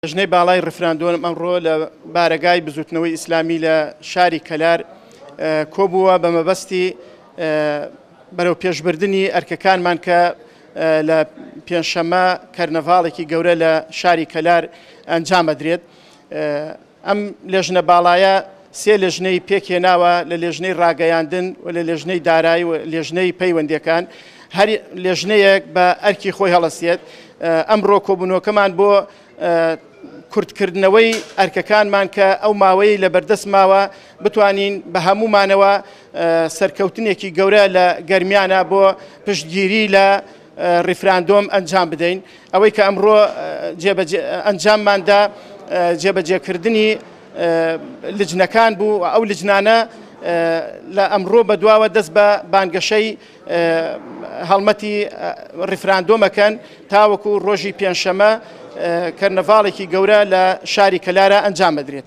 لیژنەی باڵای ڕیفراندۆم ئەمڕۆ لە بارەگای بزوتنەوەی ئیسلامی لە شاری کەلار کۆبووە بە مەبەستی بەرەو پێشبردنی ئەرکەکانمان کە لە پێنجشەممە کەرنەڤاڵێکی گەورە لە شاری کەلار ئەنجام ئەدرێت. ئەم لێژنە باڵایە سێ لێژنەی پێکهێناوە لە لێژنەی ڕاگەیاندن و لە لێژنەی دارایی و لێژنەی پەیوەندیەکان هەر لێژنەیەک بە ئەرکی خۆی هەڵەسێت ئەمڕۆ کۆبوونەوەکەمان بۆ کورتکردنەوەی ئەرکەکانمان کە ئەو ماوەیە لە بەردەست ماوە بتوانین بە هەمومانەوە سەرکەوتنێکی گەورە لە گەرمیانە بۆ پشتگیری لە ڕیفراندۆم ئەنجام بدەین. ئەوەی کە ئەمڕۆ ئەنجامماندا جێبەجێکردنی لجنەکان بوو و ئەو لجنانە لە ئەمڕۆ بەدواوە دەست بە بانگەشەی هەڵمەتی ڕیفراندۆمەکەن تاوەکو ڕۆژی پێنجشەمە کەرنەڤاڵێکی گەورە لە شاری کەلارە ئەنجام بدرێت.